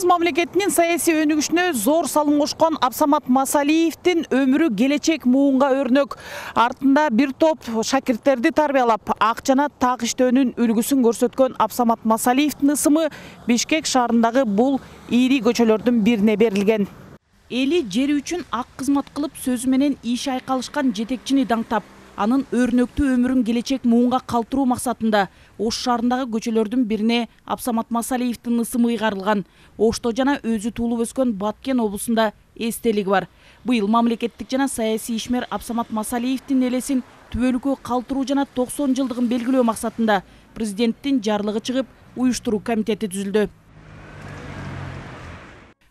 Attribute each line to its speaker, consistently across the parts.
Speaker 1: Кыргыз мамлекетинин саясий өнүгүшүнө зор салым кошкон Абсамат Масалиевдин өмүрү келечек муунга өрнөк. Артында бир топ шакирттерди тарбиялап, ак жана так иштөөнүн үлгүсүн көрсөткөн Абсамат Масалиевдин ысымы Бишкек шаарындагы бул ири көчөлөрдүн бирине берилген. Эли жери үчүн ак кызмат кылып, сөзү менен иши айкалышкан жетекчини даңтап, анын өрнөктүү өмүрүн келечек муунга калтыруу максатында Ош шаарындагы көчөлөрдүн бирине Абсамат Масалиевдин ысымы ыйгарылган. Ошто жана өзү туулуп өскөн Баткен облусунда эстелиги бар. Быйыл мамлекеттик жана саясий ишмер Абсамат Масалиевдин элесин түбөлүккө калтыруу жана 90 жылдыгын белгилөө максатында президенттин жарлыгы чыгып, уюштуруу комитети түзүлдү.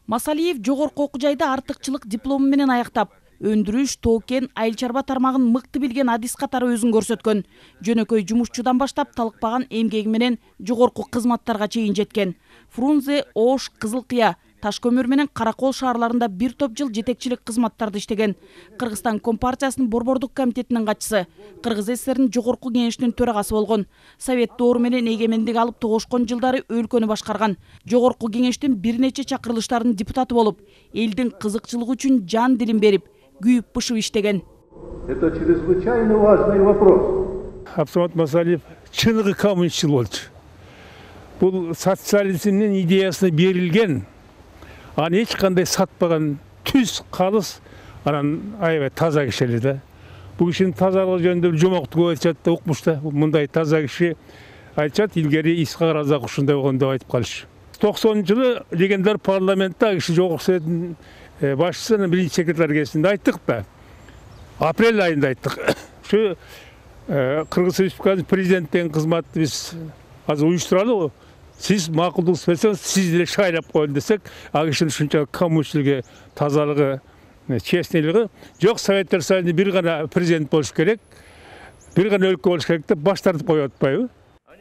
Speaker 1: Масалиев жогорку окуу жайды артыкчылык диплому менен аяктап, өндүрүш, тоо-кен, айыл чарба тармагын мыкты билген адис катары өзүн көрсөткөн. Жөнөкөй жумушчудан баштап талыкпаган эмгеги менен жогорку кызматтарга чейин жеткен. Фрунзе, Ош, Кызыл Кыя, Таш көмүр менен Каракол шаарларында бир топ жыл жетекчилик кызматтарды иштеген. Кыргызстан Компартиясынын борбордук комитетинин катчысы, Кыргыз ССРнин жогорку кеңешинин төрагасы болгон. Совет доору менен эгемендик алып тогошкон жылдары өлкөнү башкарган. Жогорку кеңештин бир нече чакырылыштарынын депутаты болуп, элдин кызыкчылыгы үчүн жан дилин берип, күйүп-бышып иштеген.
Speaker 2: Это чрезвычайно важный вопрос.
Speaker 3: Абсамат Масалиев чыныгы коммунистчил болчу. Бул социализмдин идеясына берилген, аны эч кандай сатпаган түз калыс, анан аябай таза киши эле да. Бул кишинин тазалыгы жөнүндө жомокту көп айтышат да, укмуш да. Мындай таза киши айтышат, илгери Исхак Разак ушундай болгон деп айтып калышы. 90-жылы легендар парламентте киши жогорку советтин башчысынын биринчи секретарь кезинде айттык да. Апрель айында айттык. Ушу Кыргыз Республикасынын президенттин кызматты биз азыр уюштуралы. Сиз макулдук берсеңиз, сиз деле шайлап коелу десек, ал кишинин ушунча коммунистчилиги, тазалыгы, честнийлиги жок. Советтер Союзунда бир гана президент болуш керек, бир гана өлкө болуш керек деп баш тартып коюп атпайбы?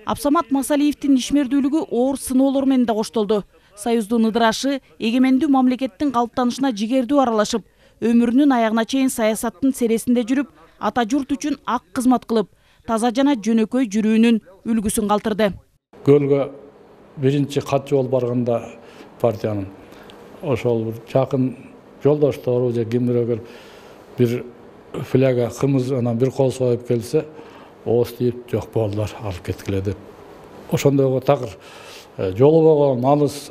Speaker 1: Абсамат Масалиевдин ишмердүүлүгү оор сыноолор менен да коштолду. Союздун ыдырашы эгемендүү мамлекеттин калыптанышына жигердүү аралашып, өмүрүнүн аягына чейин саясаттын сересинде жүрүп, ата журт үчүн ак кызмат кылып, таза жана жөнөкөй жүрүүнүн үлгүсүн калтырды.
Speaker 4: Көлгө биринчи катчы болуп барганда партиянын ошол жакын жолдоштору же кимдир бир фляга кымыз анан бир кол союп келсе, ооз тийип жок болдулар, алып кеткиле деп. Ошондойго такыр жолубогон алыс,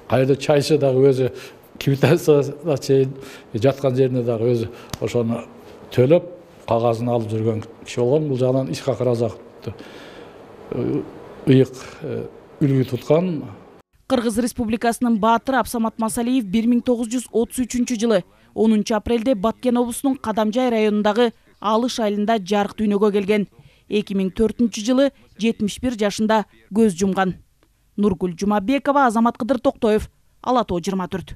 Speaker 4: кайда чайчы дагы өзү квитанцияда чейин жаткан жерине дагы өзү ошону төлөп кагазын алып жүргөн киши болгон. Бул жагынан Исхак Разакты ыйык үлгү туткан.
Speaker 1: Кыргыз Республикасынын баатыры Абсамат Масалиев 1933 жылы 10 апрелде Баткен облусунун Кадамжай районундагы Алыш айылында жарык дүйнөгө келген. 2004 жылы 71 жашында көз жумган. Нургүл Жумабекова, Азамат Кыдыр Токтоев, Ала Тоо 24.